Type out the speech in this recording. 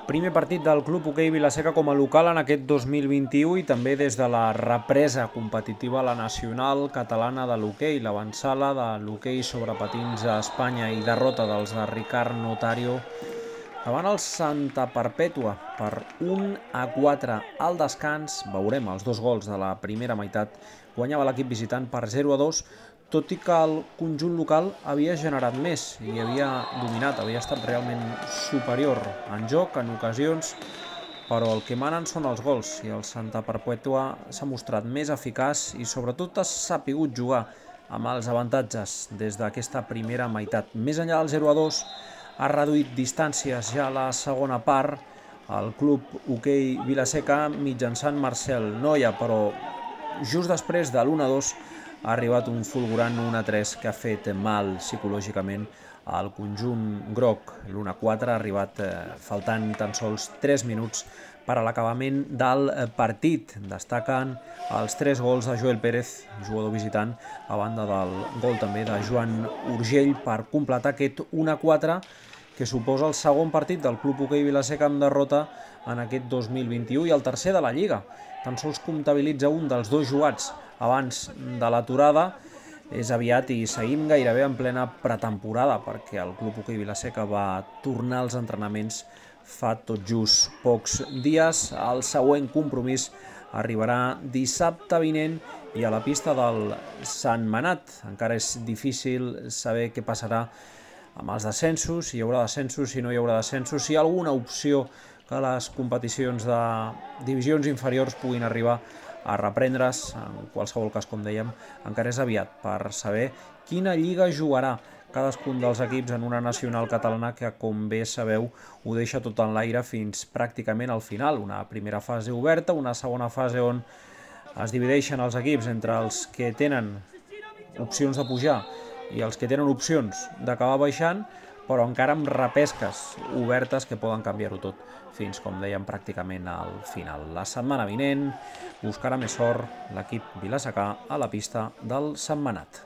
Primer partit del Club Hoquei Vila-seca com a local en aquest 2021 i també des de la represa competitiva a la nacional catalana de l'hoquei, l'avantsala de l'hoquei sobre patins a Espanya i derrota dels de Ricard Notario davant el Santa Perpètua per 1-4 al descans. Veurem els dos gols de la primera meitat. Guanyava l'equip visitant per 0-2, tot i que el conjunt local havia generat més i havia dominat, havia estat realment superior en joc, en ocasions, però el que manen són els gols i el Santa Perpètua s'ha mostrat més eficaç i sobretot ha sapigut jugar amb els avantatges des d'aquesta primera meitat. Més enllà del 0-2, ha reduït distàncies ja a la segona part el Club Hoquei Vila-seca mitjançant Marcel Noia, però just després de l'1-2 ha arribat un fulgurant 1-3 que ha fet mal psicològicament al conjunt groc. L'1-4 ha arribat faltant tan sols 3 minuts per a l'acabament del partit. Destaquen els 3 gols de Joel Pérez, jugador visitant, a banda del gol també de Joan Urgell per completar aquest 1-4 que suposa el segon partit del Club Hoquei Vila-seca amb derrota en aquest 2021 i el tercer de la Lliga. Tan sols comptabilitza un dels dos jugats abans de l'aturada. És aviat i seguim gairebé en plena pretemporada perquè el Club Hoquei Vila-seca va tornar als entrenaments fa tot just pocs dies. El següent compromís arribarà dissabte vinent i a la pista del Sentmenat. Encara és difícil saber què passarà amb els descensos, si hi haurà descensos, si no hi haurà descensos, si hi ha alguna opció que les competicions de divisions inferiors puguin arribar a reprendre's. En qualsevol cas, com dèiem, encara és aviat per saber quina lliga jugarà cadascun dels equips en una nacional catalana que, com bé sabeu, ho deixa tot en l'aire fins pràcticament al final. Una primera fase oberta, una segona fase on es divideixen els equips entre els que tenen opcions de pujar i els que tenen opcions d'acabar baixant, però encara amb repesques obertes que poden canviar-ho tot fins, com dèiem, pràcticament al final. La setmana vinent buscarà més sort l'equip vilasecà a la pista del Sentmenat.